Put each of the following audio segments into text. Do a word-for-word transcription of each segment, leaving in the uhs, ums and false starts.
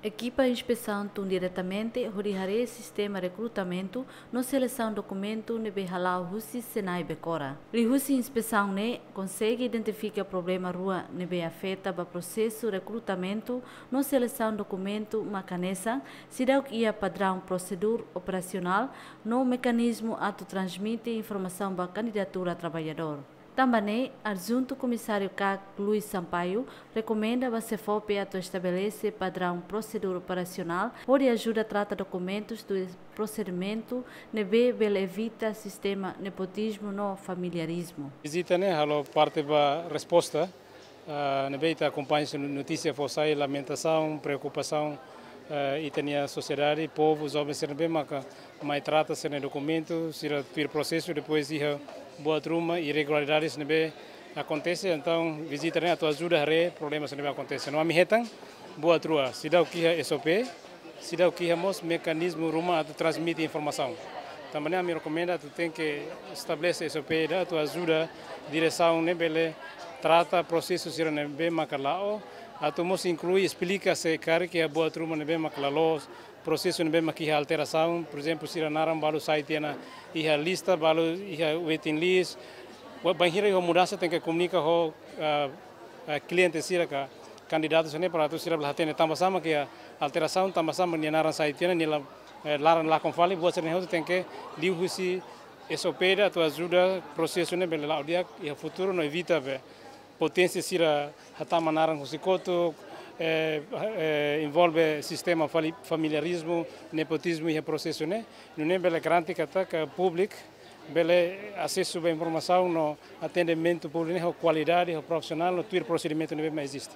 Ekipa inspesaun tun diretamente hodi haree sistema rekrutamentu no selesaun dokumentu ne'ebé hala'o husi SENAI Becora. Liuhusi inspesaun ne'e konsege identifika problema rua ne'ebé afeta ba prosesu rekrutamentu no selesaun dokumentu, mak hanesan seidauk iha padraun prosedura operasionál no mekanizmu atu transmite informasaun ba kandidatura traballadór. Tanba ne'e, Adjuntu Komisáriu kak Luis Sampaio rekomenda ba SEFOPE atu estabelese padraun prosedura operasionál hodi ajuda trata dokumentus no prosedimentu ne'ebé bele evita sistema nepotizmu no familiarizmu. Vizita ne'e halo parte ba resposta, ah, ne'ebé ita akompaña husi notísia fó sai, lamentasaun, preokupasaun, eh, ita-nia sosiedade, povu, joven sira ne'ebé maka mai trata sira-nia dokumentu, sira tuir prosesu, depois iha buat ruma irregularidades ne'ebé akontese. Entaun vizita ne'e atu ajuda haree problema sira ne'ebé akontese. No ami hetan buat rua, seidauk iha S O P, seidauk iha mós mekanizmu ruma atu transmite informasaun. Tanba ne'e ami rekomenda atu tenke estabelese S O P ida atu ajuda diresaun ne'e bele trata prosesu sira ne'ebé maka la'o, atu mós inklui esplika se karik iha buat ruma ne'ebé maka la loos, prosesu ne'ebé maka iha alterasaun, por ezemplu, sira naran balu sai tiha ona iha lista, balu iha waiting list. Wa-, bainhira iha mudansa tenke komunika ho, ah, ah, kliente sira ka kandidatu sira-ne'e para atu sira bele hatene tanba sá maka iha alterasaun, tanba sá maka nia naran sai tiha ona, nia la, eh, naran lakon fali, buat sira-ne'e hotu tenke liuhusi S O P ida atu ajuda prosesu ne'e bele la'o di'ak iha futuru no evita be potensiál sira hatama naran husi kotuk, eh, eh, envolve sistema fali-, familiarizmu, nepotizmu iha prosesu ne'e, nune'e bele garante katak públiku bele asesu ba informasaun no atendimentu públiku ne'e ho kualidade, ho profisionál, no tuir prosedimentu ne'ebé mak eziste.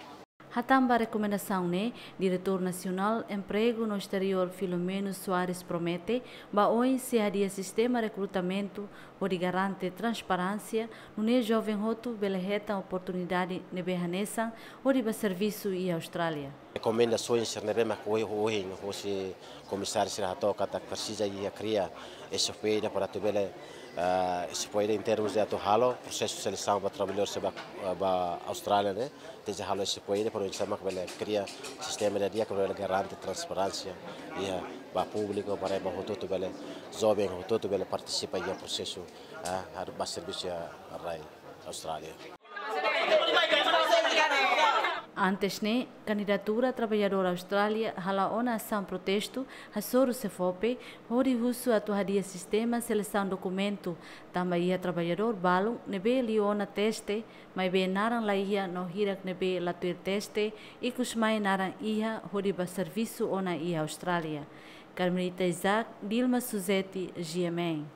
Hatán ba rekomendasaun ne'e, Diretór Nasionál Empregu no Esteriór Filomeno Soares promete ba oin sei hadi'a sistema rekrutamentu hodi garante transparénsia, nune'e joven hotu bele hetan oportunidade ne'ebé hanesan hodi bá servisu iha Austrália. Rekomendasaun sira ne'ebé mak ohin, ohin husi komisáriu sira hato'o katak presiza iha kria S O P ida para atu bele, ah, S O P ida em termos de atu halo prosesu selesaun ba traballadór sira bá, ah, bá Austrália ne'e. Tenke halo S O P ida para oinsá mak bele kria sistema ida di'ak bele garante transparénsia iha ba públiku, para ba hotu-hotu bele, joven hotu-hotu bele partisipa iha prosesu, ah, atu bá servisu iha rai Austrália. Antes ne'e, kandidatura traballadór Austrália hala'o ona asaun protestu hasoru SEFOPE hodi husu atu hadi'a sistema selesaun dokumentu, tanba iha traballadór balun ne'ebé liu ona teste, maibé naran la iha no hirak ne'ebé la tuir teste, ikus mai naran iha hodi bá servisu ona iha Austrália. Carmelita Isaac, Dilma Suzeti, G M N.